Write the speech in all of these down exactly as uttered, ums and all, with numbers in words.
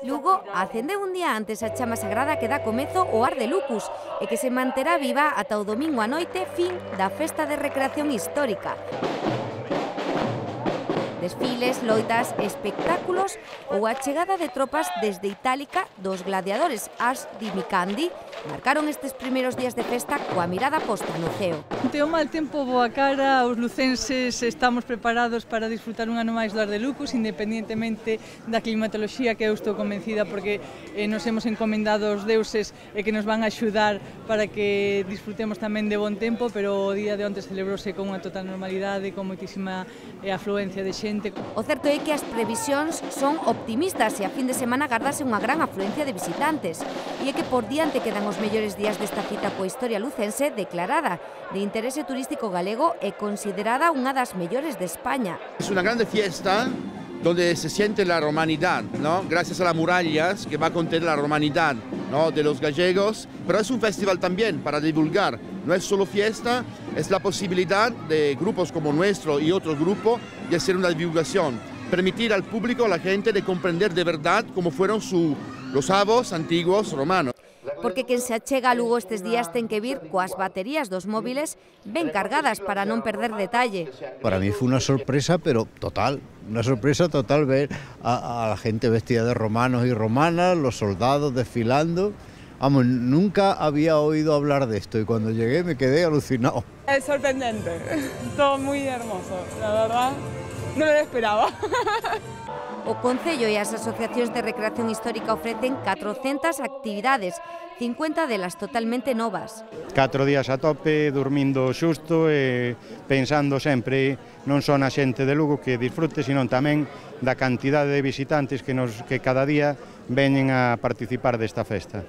Lugo acendeu un día antes a chama sagrada que dá comezo o Ar de Lucus e que se manterá viva ata o domingo a noite, fin da Festa de Recreación Histórica. Desfiles, loitas, espectáculos ou a chegada de tropas desde Itálica dos gladiadores Ars di Micandi marcaron estes primeiros días de festa coa mirada posta no ceo. Ante o mal tempo boa cara, os lucenses estamos preparados para disfrutar un ano máis do Ar de Lucus, independentemente da climatoloxía, que eu estou convencida porque eh, nos hemos encomendado aos deuses e que nos van a axudar para que disfrutemos tamén de bon tempo, pero o día de onte celebrouse con unha total normalidade, con moitísima eh, afluencia de xente. O certo é que as previsións son optimistas e a fin de semana gardase unha gran afluencia de visitantes. E é que por diante quedan os mellores días desta cita coa historia lucense declarada de interese turístico galego e considerada unha das mellores de España. Es una grande fiesta donde se siente la romanidad, ¿no? Gracias a las murallas que va a contener la romanidad, ¿no? De los gallegos, pero es un festival también para divulgar. No es solo fiesta, es la posibilidad de grupos como nuestro y otros grupos de hacer una divulgación, permitir al público, a la gente, de comprender de verdad cómo fueron su, los avós antiguos romanos. Porque quen se achega a Lugo estes días ten que vir coas baterías dos móviles ben cargadas para non perder detalle. Para mí fue una sorpresa, pero total, una sorpresa total ver a, a la gente vestida de romanos y romanas, los soldados desfilando. Vamos, nunca había oído hablar de esto y cuando llegué me quedé alucinado. Es sorprendente, todo muy hermoso, la verdad, no lo esperaba. O Concello e as asociacións de recreación histórica ofrecen catrocentas actividades, cincuenta delas totalmente novas. Catro días a tope, dormindo xusto e pensando sempre non só na xente de Lugo que disfrute, sino tamén da cantidade de visitantes que, nos, que cada día veñen a participar desta festa.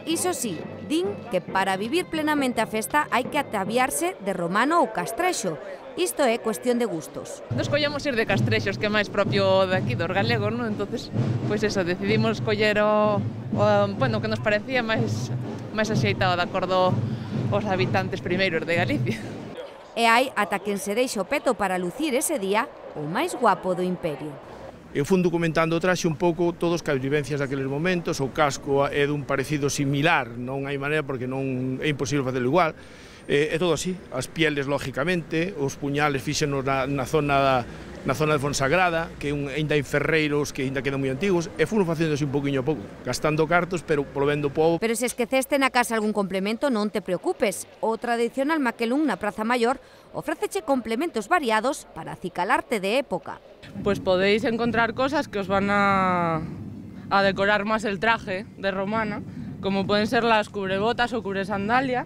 Iso sí, din que para vivir plenamente a festa hai que ataviarse de romano ou castrexo. Isto é cuestión de gustos. Nos collemos ir de castrexos, que é máis propio daqui dos galegos, non? Entonces, pois eso, decidimos coller o, o bueno, que nos parecía máis máis axeitado de acordo aos habitantes primeiros de Galicia. E hai ata quen se deixa o peto para lucir ese día o máis guapo do imperio. Eu fun documentando o traxe un pouco todos as vivencias daqueles momentos, o casco é dun parecido similar, non hai maneira porque non é imposible facelo igual, é, é todo así, as pieles lógicamente, os puñales fíxenos na, na zona da, na zona de Fonsagrada, que un, ainda hai ferreiros que ainda quedan moi antigos, e funo facendo así un poquinho a pouco, gastando cartos, pero volvendo povo. Pero se esqueceste na casa algún complemento, non te preocupes, o tradicional maquelún na Praza Maior ofréceche complementos variados para acicalarte de época. Pues podéis encontrar cosas que os van a, a decorar más el traje de romana, como pueden ser las cubrebotas o cubresandalia,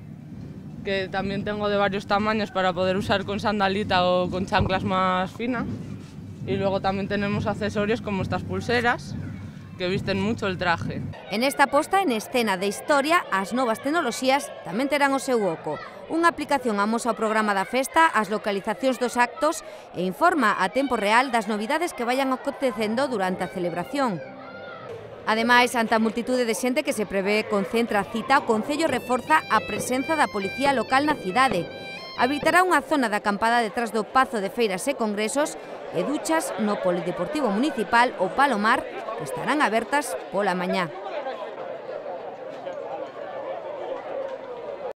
que también tengo de varios tamaños para poder usar con sandalita o con chanclas más finas. Y luego también tenemos accesorios como estas pulseras, que visten mucho el traje. En esta posta en escena de historia, as novas tecnoloxías tamén terán o seu oco. Unha aplicación amosa o programa da festa, as localizacións dos actos e informa a tempo real das novidades que vayan acontecendo durante a celebración. Ademais, ante a multitude de xente que se prevé concentra a cita, o Concello reforza a presenza da policía local na cidade. Habilitará unha zona de acampada detrás do Pazo de Feiras e Congresos e duchas no Polideportivo Municipal ou Palomar que estarán abertas pola mañá.